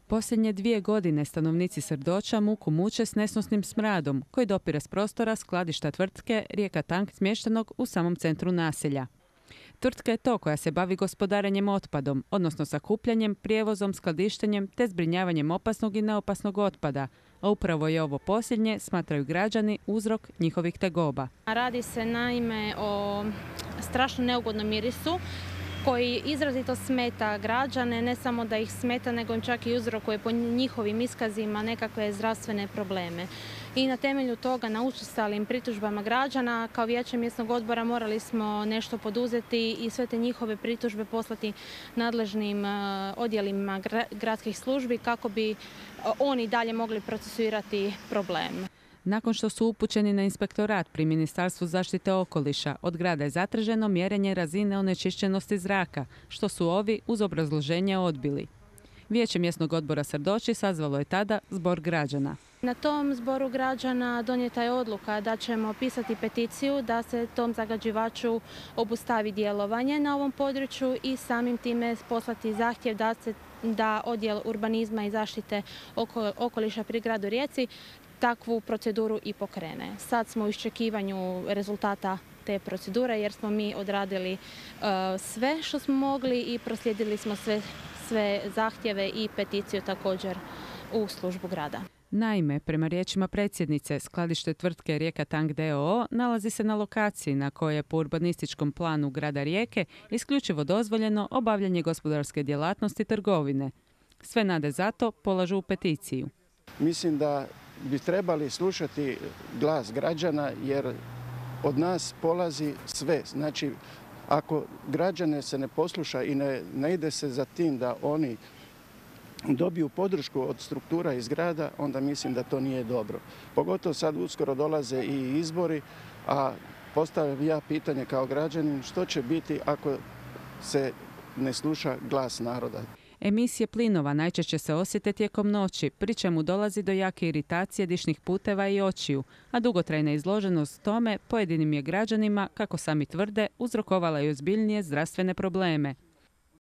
Posljednje 2 godine stanovnici Srdoča muku muče s nesnosnim smradom koji dopire s prostora skladišta tvrtke Rijeka Tank smještenog u samom centru naselja. Tvrtka je to koja se bavi gospodarenjem otpadom, odnosno sakupljanjem, prijevozom, skladištenjem te zbrinjavanjem opasnog i neopasnog otpada, a upravo je ovo posljednje, smatraju građani, uzrok njihovih tegoba. Radi se naime o strašno neugodnom mirisu koji izrazito smeta građane, ne samo da ih smeta, nego im čak i uzrokuje po njihovim iskazima nekakve zdravstvene probleme. I na temelju toga, na učestalim pritužbama građana, kao vijeće mjesnog odbora morali smo nešto poduzeti i sve te njihove pritužbe poslati nadležnim odjelima gradskih službi kako bi oni dalje mogli procesuirati problem. Nakon što su upućeni na inspektorat pri Ministarstvu zaštite okoliša, od grada je zatraženo mjerenje razine onečišćenosti zraka, što su ovi uz obrazloženje odbili. Vijeće mjesnog odbora Srdoči sazvalo je tada zbor građana. Na tom zboru građana donijeta je odluka da ćemo pisati peticiju da se tom zagađivaču obustavi djelovanje na ovom području i samim time poslati zahtjev da odjel urbanizma i zaštite okoliša pri gradu Rijeci takvu proceduru i pokrene. Sad smo u iščekivanju rezultata te procedure jer smo mi odradili sve što smo mogli i proslijedili smo sve zahtjeve i peticiju također u službu grada. Naime, prema riječima predsjednice, skladište tvrtke Rijeka Tank d.o.o. nalazi se na lokaciji na kojoj je po urbanističkom planu grada Rijeke isključivo dozvoljeno obavljanje gospodarske djelatnosti i trgovine. Sve nade zato polažu u peticiju. Mislim da bi trebali slušati glas građana jer od nas polazi sve. Znači, ako građane se ne posluša i ne ide se za tim da oni dobiju podršku od struktura iz grada, onda mislim da to nije dobro. Pogotovo sad uskoro dolaze i izbori, a postavljam ja pitanje kao građanin što će biti ako se ne sluša glas naroda. Emisije plinova najčešće se osjete tijekom noći, pri čemu dolazi do jake iritacije dišnih puteva i očiju, a dugotrajna izloženost tome pojedinim je građanima, kako sami tvrde, uzrokovala i ozbiljnije zdravstvene probleme.